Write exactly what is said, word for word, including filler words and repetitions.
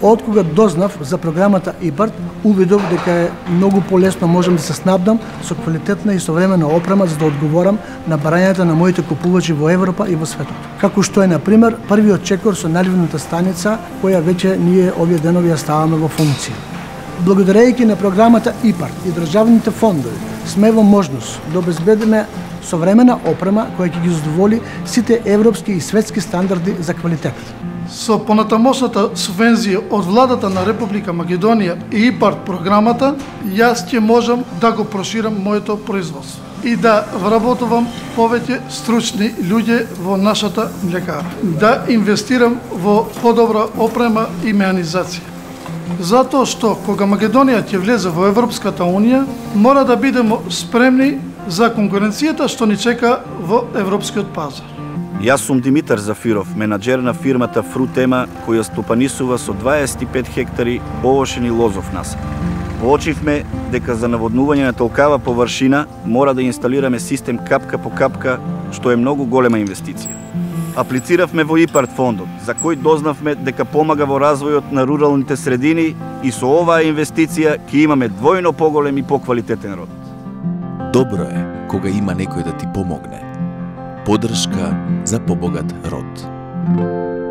Од кога дознав за програмата ИПАРД, увидов дека е многу полесно можам да се снабдам со квалитетна и современа опрема за да одговорам на барањата на моите купувачи во Европа и во светот. Како што е, например, првиот чекор со наливната станица, која веќе ние овие денови ја ставаме во функција. Благодарејќи на програмата ИПАРД и државните фондови, сме во можност да обезбедиме современа опрема која ќе ги задоволи сите европски и светски стандарди за квалитет. Со понатамошната субвензија од владата на Република Македонија и ИПАРД програмата, јас ќе можам да го проширам моето производство и да вработувам повеќе стручни луѓе во нашата млекара, да инвестирам во подобра опрема и механизација. Затоа што кога Македонија ќе влезе во Европската Унија, мора да бидеме спремни за конкуренцијата што ни чека во европскиот пазар. Јас сум Димитар Зафиров, менаџер на фирмата Фрутема, која стопанисува со дваесет и пет хектари овошени лозов насад. Воочивме дека за наводнување на толкава површина мора да инсталираме систем капка по капка, што е многу голема инвестиција. Аплициравме во ИПАРД фондот, за кој дознавме дека помага во развојот на руралните средини и со оваа инвестиција ќе имаме двојно поголем и поквалитетен род. Добро е кога има некој да ти помогне. Поддршка за побогат род.